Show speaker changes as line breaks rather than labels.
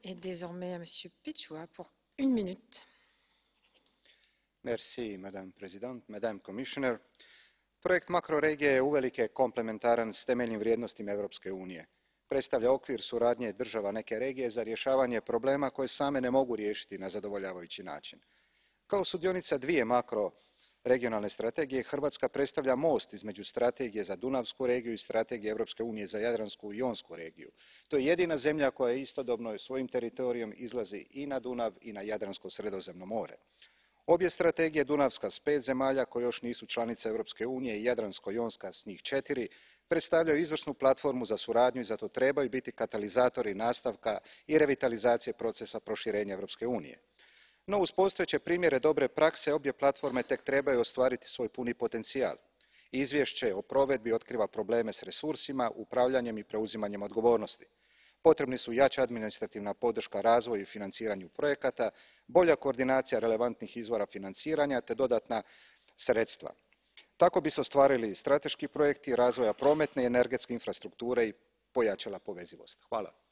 est désormais à Monsieur Pichua pour une minute.
Merci, Madame President, Madame Commissioner. Projekt makroregije je uvelike komplementaran s temeljnim vrijednostima Europske unije. Predstavlja okvir suradnje država neke regije za rješavanje problema koje same ne mogu riješiti na zadovoljavajući način. Kao sudionica dvije makroregionalne strategije, Hrvatska predstavlja most između strategije za Dunavsku regiju i strategije Europske unije za Jadransku i Jonsku regiju. To je jedina zemlja koja istodobno svojim teritorijem izlazi i na Dunav i na Jadransko Sredozemno more. Obje strategije, Dunavska s 5 zemalja koje još nisu članice Europske unije i Jadransko-jonska s njih 4, predstavljaju izvrsnu platformu za suradnju i zato trebaju biti katalizatori nastavka i revitalizacije procesa proširenja Europske unije. No, uz postojeće primjere dobre prakse, obje platforme tek trebaju ostvariti svoj puni potencijal. Izvješće o provedbi otkriva probleme s resursima, upravljanjem i preuzimanjem odgovornosti. Potrebni su jača administrativna podrška razvoju i financiranju projekata, bolja koordinacija relevantnih izvora financiranja te dodatna sredstva. Tako bi se ostvarili strateški projekti razvoja prometne i energetske infrastrukture i pojačala povezivost. Hvala.